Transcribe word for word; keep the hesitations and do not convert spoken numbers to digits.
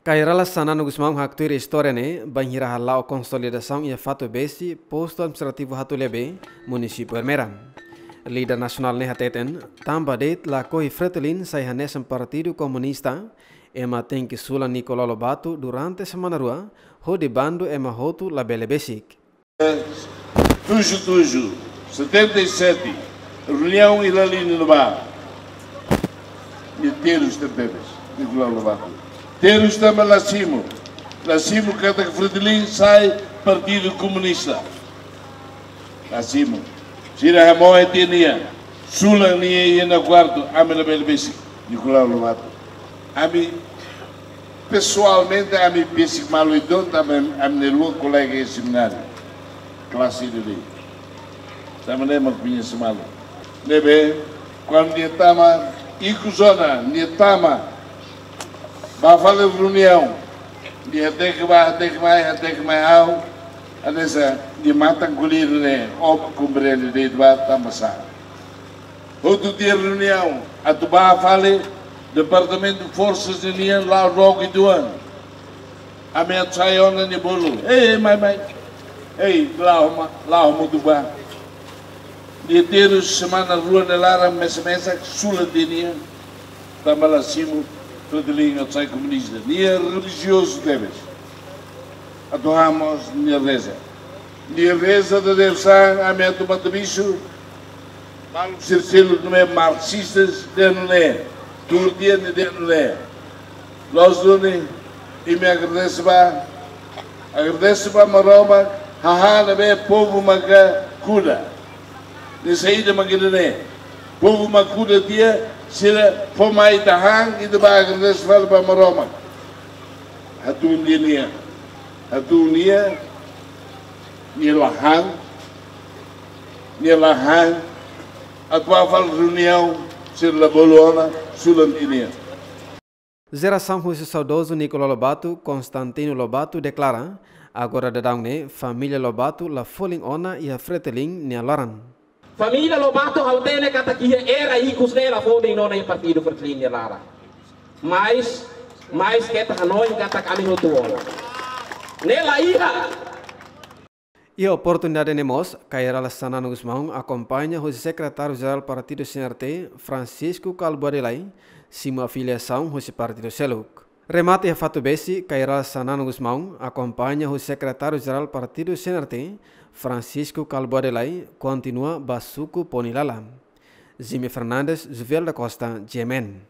Kay Rala Xanana Gusmão haktuir istória ne'e bainhira hala'o konsolidasaun iha Fatubesi, postu administrativu Hatuliabé, munisípiu Ermera. Líder nasionál ne'e hateten, tanba de'it lakohi Fretilin sai hanesan Partidu Komunista, ema tenke sulan Nicolau Lobato durante semana rua, hodi bandu ema hotu labele besik. Tuju tuju, setenta e sete, reuniaun iha Lalin ne'ebá. Nia terus tebes, Nicolau Lobato. Terus tanba la simu. La simu katak Fretilin sai Partidu Komunista. La simu. Sira hamoe tiha nia. Sulan nia iha nia kuartu, ami labele besik. Nicolau Lobato. Ami pesoalmente, ami besik malu uitoan, tanba ami, ami-nia rua kolega iha semináriu. Klase de lei. Tanba ne'e mak koñese malu. Ne'ebé, kuandu nia tama, ikus ona, nia tama. Bá fali reuniaun. Nia hateke bá, hateke mai, hateke mai ha'u. Hanesan, nia matan ko'alia ne'e, ó komprende de'it bá, tanba sá. Hotu tiha reuniaun, atu bá fali, departamentu forsas ninian la'o rok uitoan. Ami atu sai ona nia bolu. Ei, ei, mai, mai. Ei, la'o ma, la'o mutu bá. Nia terus semana rua nia laran mesak-mesak, sulan tiha nia. Tanba la simu, Fretilin atu sai komunista. Nia relijiozu tebes. Atu han mós nia reza. Nia reza dadeer-saan, ami atu Matabixu. Maluk sira seluk ne'ebé marxistas dehan nune'e, tuur tiha nia dehan nune'e. Loos duni, imi agradese bá, agradese bá Maromak, hahán ne'ebé povu maka kuda. Nia saida mak ida-ne'e. Povu mak kuda tiha, sira fó mai ita han, ita bá agradese fali ba Maromak. Hatún tiha nia. Hatún nia, nia la han, nia la han, atu bá fali reuniaun, sira la bolu ona, sulan tiha nia. Jerasaun husi saudozu Nicolau Lobato, Constantino Lobato, deklara, agora daudaun ne'e, família Lobato la folin ona iha Fretilin nia laran. Família Lobato ha'u hatene katak iha era ikus ne'e la folin ona iha Partidu Fretilin nia laran. Mais, mais keta hanoin katak ami hotu ona. Ne'e la iha. Iha oportunidade ne'e mós, Kay Rala Xanana Gusmão akompaña husi Sekretáriu Jerál Partidu C N R T, Francisco Kalbuadi Lay, simu afiliasaun husi partidu seluk. Remata iha Fatubesi, Kay Rala Xanana Gusmão akompaña husi Sekretáriu Jerál Partidu C N R T, Francisco Kalbuadi Lay, kontinua ba suku Ponilala. Jimmy Fernandes, Juvel da Costa, G M N.